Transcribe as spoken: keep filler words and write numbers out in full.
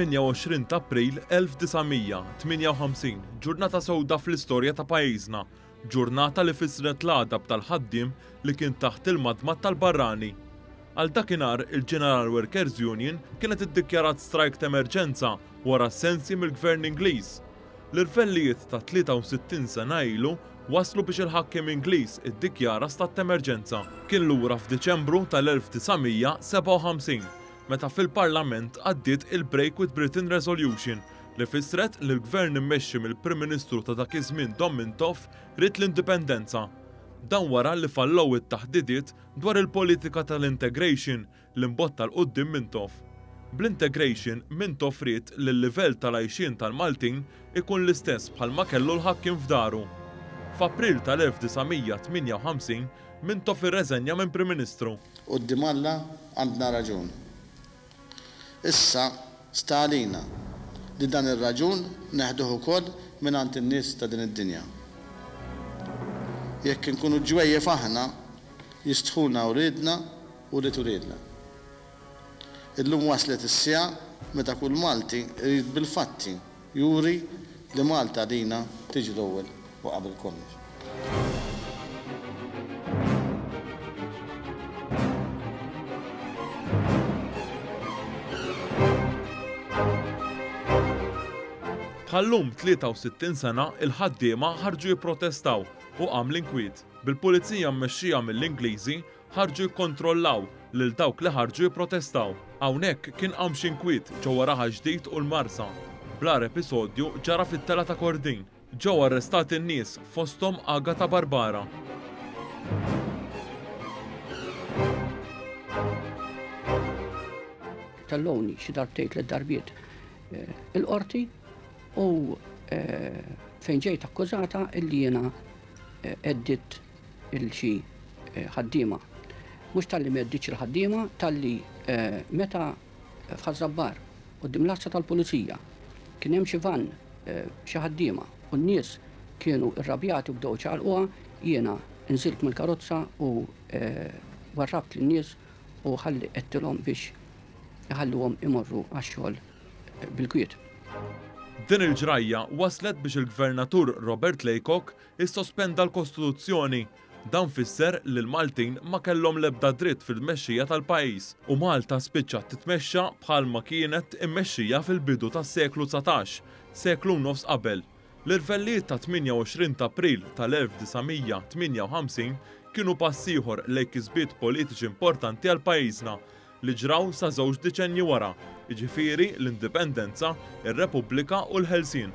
Tmienja u għoxrin ta' April elf disa' mija tmienja u ħamsin, ġurnata sewda fl-istorja ta' pajjiżna, ġurnata li fissret l-għadab tal-ħaddiem li kien taħt il-madmad tal-barrani. Għal dakinhar il-General Workers Union kienet iddikjarat strajk ta' emerġenza wara sensi mill-Gvern Ingliż. L-irvellijiet ta' tlieta u sittin sena ilu waslu biex il-ħakkiem Ingliż iddikjara stat ta' emerġenza. Kien lura f'Diċembru tal-elf disa' mija sebgħa u ħamsin, meta fil-Parlament għaddiet il-Break with Britain Resolution li fissret li l-Gvern immexxi mill-Prim Ministru ta' dak iż-żmien Dom Mintoff ried l-indipendenza. Dan wara li fallow it-taħdidiet dwar il-politika tal-integration li mbotta 'l quddiem Mintoff. Bl-integration, Mintoff ried li l-livell tal-għajxien tal-Maltin ikun l-istess bħalma kellu l-ħakkiem f'daru. F'April tal-elf disa' mija tmienja u ħamsin, Mintoff irreżenja minn Prim Ministru. Quddiem Alla għandna raġun. Issa sta għalina li dan ir-raġun neħduh ukoll mingħand in-nies ta' din id-dinja. Jekk inkunu ġwejjef aħna, jistħuna wliedna u li turidna. Illum waslet is-siegħa meta kull Malti irid bil-fatti juri li Malta għalina tiġi l-ewwel u qabel kollox. Bħal-lum tlieta u sittin sena il-ħaddiema ħarġu jipprotestaw u qam l-inkwiet. Bil-pulizija mmexxija mill-Ingliżi ħarġu jikkontrollaw lil dawk li ħarġu jipprotestaw. Hawnhekk kien qam xi inkwiet ġewwa Raħal Ġdid u l-Marsa. Blar episodju ġara fit-tela ta' Kordin. Ġew arrestati n-nies fosthom Agata Barbara. Telloni xi darbtejn tliet darbiet, eh, il-qorti u, eh, fejn ġejt akkużata illi jiena, eh, għeddit il-xi, eh, ħaddiema. Mhux talli m'għedditx il-ħaddiema, talli, eh, meta f'Ħaż-Żabbar quddiem l-għassa tal-pulizija kien hemm xi van, eh, xi ħaddiema u n-nies kienu rrabjati u bdew ċaqalquha, jiena nżilt mill-karozza u, eh, warrabt lin-nies u ħalli qedtilhom biex iħalluhom imorru għax-xogħol bil-kwiet. Din il-ġrajja waslet biex il-Gvernatur Robert Laycock issospenda l-Kostituzzjoni. Dan fisser li l-Maltin ma kellhom l-ebda dritt fil-mexxija tal-pajjiż u Malta spiċċat titmexxa bħalma kienet immexxija fil-bidu tas-seklu dsatax, seklu nofs qabel. L-irvellijiet ta' tmienja u għoxrin ta' April tal-elf disa' mija tmienja u ħamsin kienu pass ieħor lejn kisbiet politiċi importanti għal pajjiżna li ġraw sa żewġ deċennji wara, jiġifieri l-Indipendenza, ir-Repubblika u l-Ħelsien.